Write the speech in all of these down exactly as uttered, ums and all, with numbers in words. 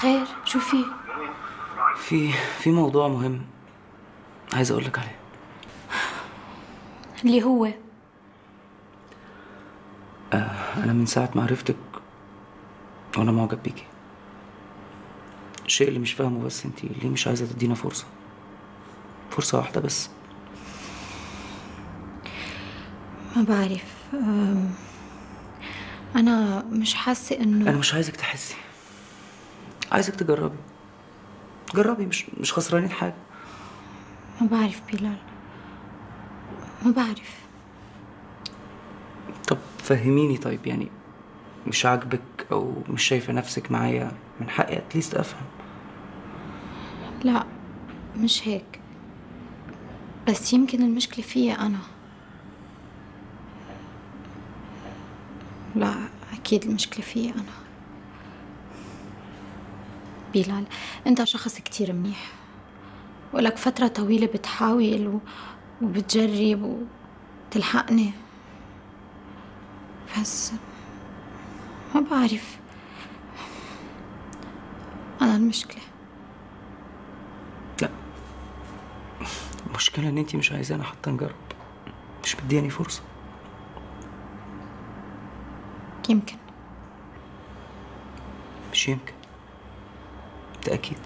خير شو في؟ في في موضوع مهم عايز اقول لك عليه. اللي هو آه انا من ساعه ما عرفتك وانا معجب بيكي. الشيء اللي مش فاهمه بس انتي ليه مش عايزه تدينا فرصه فرصه واحده بس؟ ما بعرف. أم... انا مش حاسه انه انا مش عايزك تحسي، عايزك تجربي. جربي، مش مش خسرانين حاجه. ما بعرف بلال، ما بعرف. طب فهميني. طيب يعني مش عاجبك او مش شايفه نفسك معايا، من حقي اتليست افهم. لا مش هيك، بس يمكن المشكله فيا انا. لا اكيد المشكله فيا انا. بلال انت شخص كتير منيح، ولك فتره طويله بتحاول و... وبتجرب وتلحقني، بس ما بعرف أنا المشكلة. لا، المشكلة إن أنتي مش عايزانا حتى نجرب، مش مدياني فرصة. يمكن مش يمكن، ده أكيد.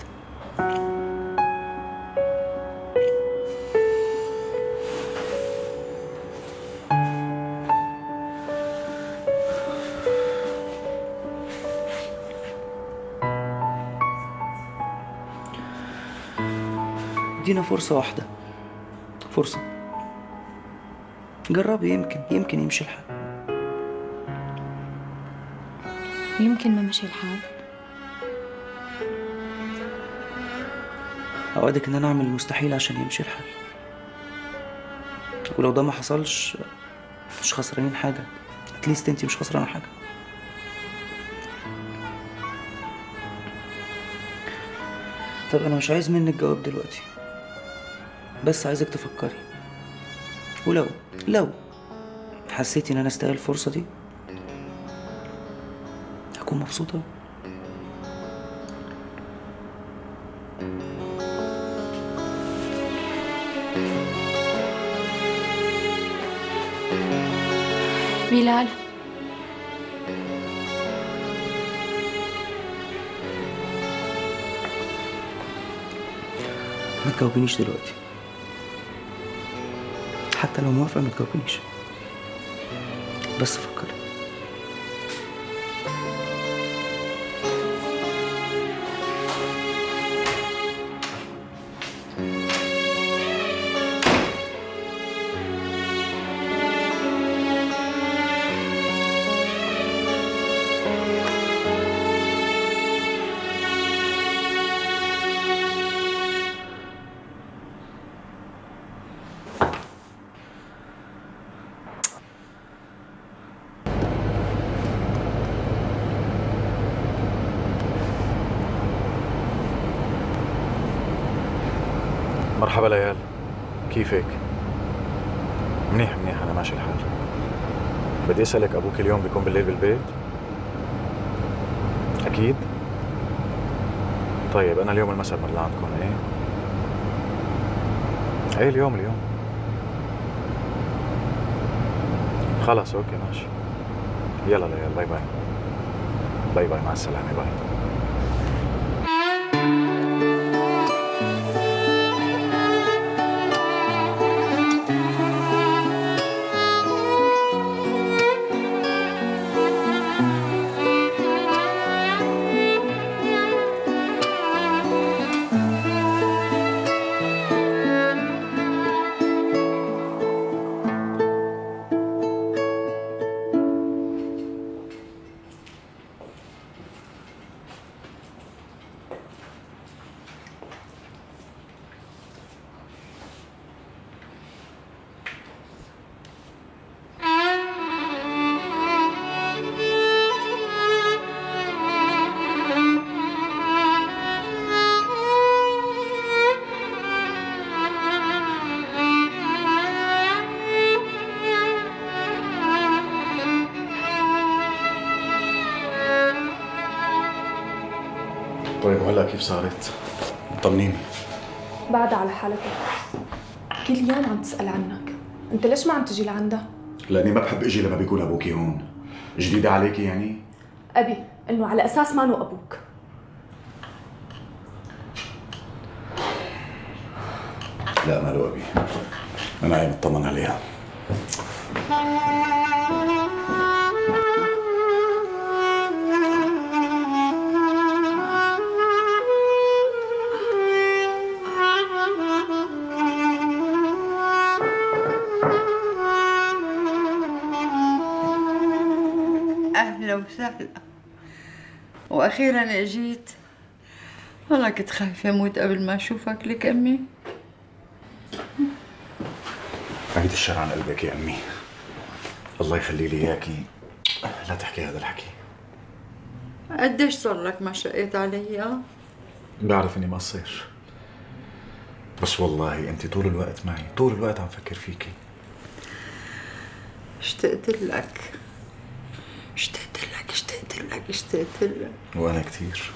ادينا فرصة واحدة، فرصة جربي، يمكن يمكن يمشي الحال. يمكن ما مشي الحال. أوعدك إن أنا أعمل المستحيل عشان يمشي الحال، ولو ده ما حصلش مش خسرانين حاجة. اتليست انتي مش خسرانة حاجة. طب أنا مش عايز منك جواب دلوقتي، بس عايزك تفكري، ولو لو حسيتي ان انا استاهل الفرصه دي هكون مبسوطه. بلال ما تجاوبنيش دلوقتي، حتى لو موافقة ما تجاوبنيش، بس فكري. مرحبا ليال، كيفك؟ منيح منيح، أنا ماشي الحال. بدي أسألك، أبوك اليوم بيكون بالليل بالبيت؟ أكيد؟ طيب أنا اليوم المساء بمر لعندكم، إيه؟ إيه اليوم اليوم؟ خلاص أوكي ماشي. يلا ليال، باي باي. باي باي، مع السلامة، باي. طيب وهلا كيف صارت؟ طمنيني. بعدها على حالتها. كل يوم عم تسأل عنك. انت ليش ما عم تجي لعندها؟ لاني ما بحب اجي لما بيكون ابوكي هون. جديدة عليكي يعني؟ ابي انه على اساس ما انه ابوك. لا ماله ابي. انا عم اطمن عليها. أهلا وسهلا. وأخيرا اجيت. والله كنت خايفة أموت قبل ما أشوفك لك أمي. بعيد الشر عن قلبك يا امي. الله يخلي لي اياكي. لا تحكي هذا الحكي. قديش صار لك ما شقيت علي؟ أه؟ بعرف اني ما صير، بس والله انت طول الوقت معي، طول الوقت عم فكر فيكي. اشتقت لك اشتقت لك اشتقت لك اشتقت لك. وانا كثير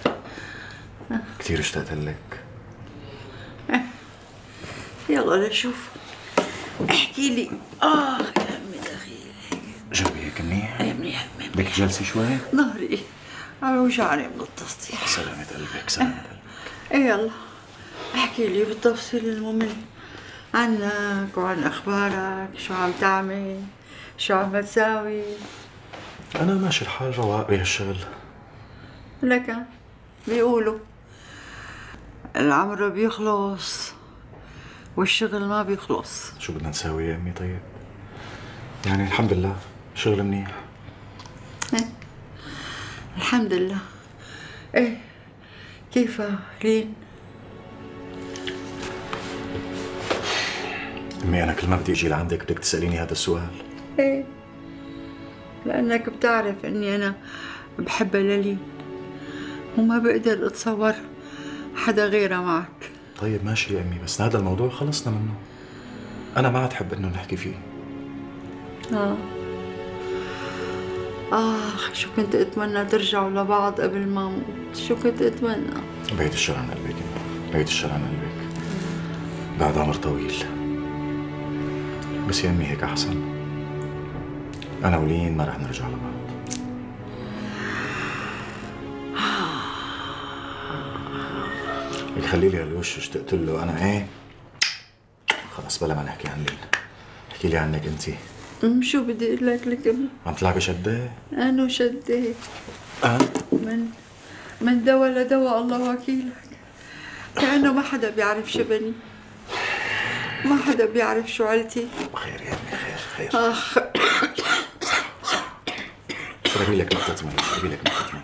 كثير اشتقت لك. يلا لشوف. احكي لي. اه يا امي دخيلك. جنبي هيك منيح؟ يا منيح منيح. بدك تجلسي شوي؟ ظهري عم يوجعني من التصديح. سلامة قلبك سلامة قلبك. ايه يلا احكي لي بالتفصيل الممل عنك وعن اخبارك. شو عم تعمل؟ شو عم تساوي؟ انا ماشي الحال رواق بهالشغل. لك بيقولوا العمر بيخلص والشغل ما بيخلص. شو بدنا نساوي يا امي طيب؟ يعني الحمد لله شغل منيح. إيه. الحمد لله. ايه كيفها لين؟ امي انا كل ما بدي اجي لعندك بدك تساليني هذا السؤال. ايه لانك بتعرف اني انا بحبها للين وما بقدر اتصور حدا غيرها معك. طيب ماشي يا امي، بس هذا الموضوع خلصنا منه. انا ما عاد حب انه نحكي فيه. اه اخ شو كنت اتمنى ترجعوا لبعض قبل ما اموت. شو كنت اتمنى. بعيد الشر عن قلبك امي، بعيد الشر عن قلبك. بعد عمر طويل، بس يا امي هيك احسن. انا ولين ما رح نرجع لبعض. لك خلي لي هالوش اشتقت له انا. ايه خلص بلا ما نحكي عن لين، احكي لي عنك انت. أم شو بدي اقول لك لك أم؟ عم تلعبي شدة؟ انا شديت. أه؟ من من دوا لدوا الله وكيلك. كأنه ما حدا بيعرف شبني، ما حدا بيعرف شو عيلتي. خير يا امي خير خير. اخ اشربي لك نقطة مي، اشربي لك نقطة مي.